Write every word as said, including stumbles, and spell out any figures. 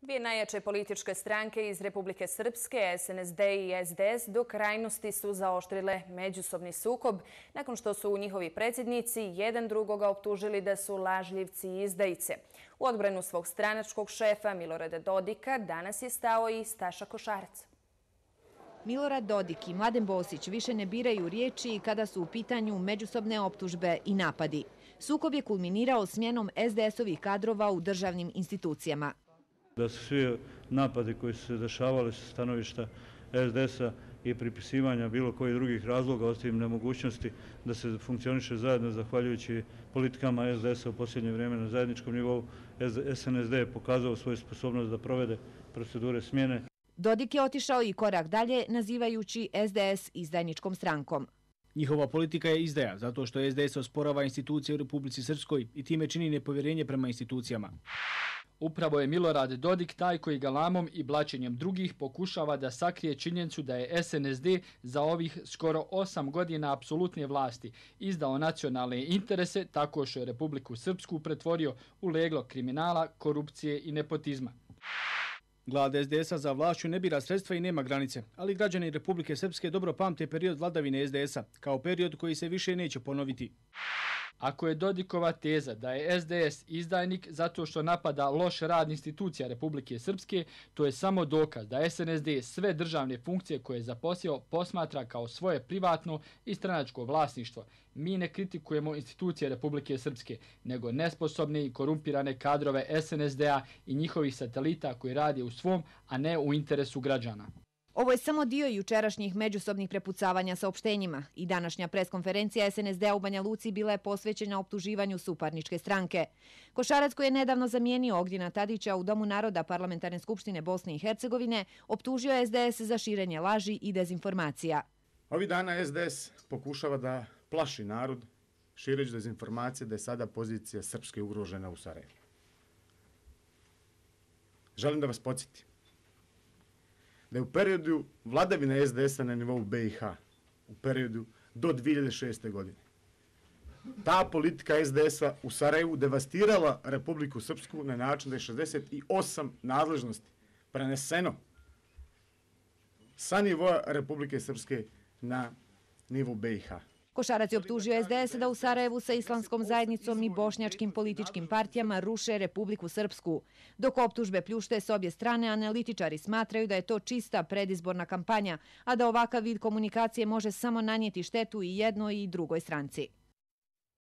Dvije najjače političke stranke iz Republike Srpske, S N S D i S D S, do krajnosti su zaoštrile međusobni sukob nakon što su njihovi predsjednici jedan drugoga optužili da su lažljivci i izdajice. U odbranu svog stranačkog šefa Milorada Dodika danas je stao i Staša Košarac. Milorad Dodik i Mladen Bosić više ne biraju riječi kada su u pitanju međusobne optužbe i napadi. Sukob je kulminirao smjenom S D S-ovih kadrova u državnim institucijama. Da su svi napadi koji su se dešavali sa stanovišta S D S-a i pripisivanja bilo kojih drugih razloga, ostavim nemogućnosti da se funkcioniše zajedno zahvaljujući politikama S D S-a u posljednje vrijeme na zajedničkom nivou. S N S D je pokazao svoju sposobnost da provede procedure smjene. Dodik je otišao i korak dalje, nazivajući S D S izdajničkom strankom. Njihova politika je izdaja, zato što S D S osporava institucije u Republici Srpskoj i time čini nepovjerenje prema institucijama. Upravo je Milorad Dodik taj koji galamom i blaćenjem drugih pokušava da sakrije činjenicu da je S N S D za ovih skoro osam godina apsolutne vlasti izdao nacionalne interese tako što je Republiku Srpsku pretvorio u leglo kriminala, korupcije i nepotizma. Glad S D S-a za vlašću ne bira sredstva i nema granice, ali građani Republike Srpske dobro pamte period vladavine S D S-a, kao period koji se više neće ponoviti. Ako je Dodikova teza da je S D S izdajnik zato što napada loš rad institucija Republike Srpske, to je samo dokaz da S N S D sve državne funkcije koje je zaposjeo posmatra kao svoje privatno i stranačko vlasništvo. Mi ne kritikujemo institucije Republike Srpske, nego nesposobne i korumpirane kadrove S N S D-a i njihovih satelita koji rade u svom, a ne u interesu građana. Ovo je samo dio jučerašnjih međusobnih prepucavanja saopštenjima i današnja preskonferencija S N S D-a u Banja Luci bila je posvećena optuživanju suparničke stranke. Košarac, koji je nedavno zamijenio Ognjena Tadića u Domu naroda Parlamentarne skupštine Bosne i Hercegovine, optužio je S D S za širenje laži i dezinformacija. Ovih dana S D S pokušava da plaši narod šireći dezinformacije da je sada pozicija Srpske ugrožena u Sarajevu. Želim da vas podsjetim da je u periodu vladavine S D S-a na nivou B i H, u periodu do dvije hiljade šeste. godine, ta politika S D S-a u Sarajevu devastirala Republiku Srpsku na način da je šezdeset osam nadležnosti preneseno sa nivoa Republike Srpske na nivo B i H. Košarac je optužio S D S da u Sarajevu sa islamskom zajednicom i bošnjačkim političkim partijama ruše Republiku Srpsku. Dok optužbe pljušte s obje strane, analitičari smatraju da je to čista predizborna kampanja, a da ovakav vid komunikacije može samo nanijeti štetu i jednoj i drugoj stranci.